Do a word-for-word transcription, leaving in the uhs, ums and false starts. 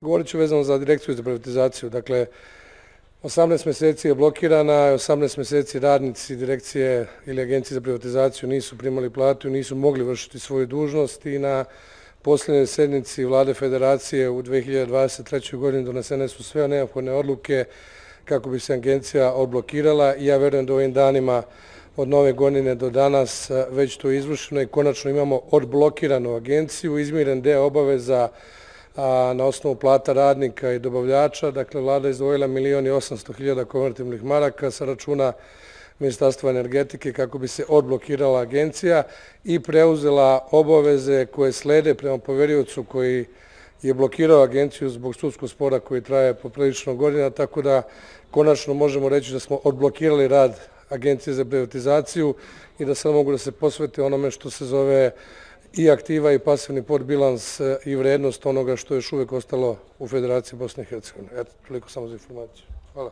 Govorit ću vezano za direkciju za privatizaciju. Dakle, osamnaest mjeseci je blokirana, osamnaest mjeseci radnici direkcije ili agencije za privatizaciju nisu primali platu i nisu mogli vršiti svoju dužnost i na posljednjoj sednici Vlade Federacije u dve hiljade dvadeset trećoj godini donesene su sve neophodne odluke kako bi se agencija odblokirala i ja verujem da ovim danima od nove godine do danas već to je izvršeno i konačno imamo odblokiranu agenciju, izmiren deo obaveza na osnovu plata radnika i dobavljača. Dakle, vlada je izdvojila milion i osamsto hiljada konvertibilnih maraka sa računa Ministarstva energetike kako bi se odblokirala agencija i preuzela obaveze koje slede prema poveriocu koji je blokirao agenciju zbog sudskog spora koji traje poprilično godina, tako da konačno možemo reći da smo odblokirali rad Agencije za privatizaciju i da sad mogu da se posvete onome što se zove i aktiva i pasivni portbilans i vrednost onoga što je još uvijek ostalo u Federaciji Bosne i Hercegovine. Eto, toliko samo za informaciju. Hvala.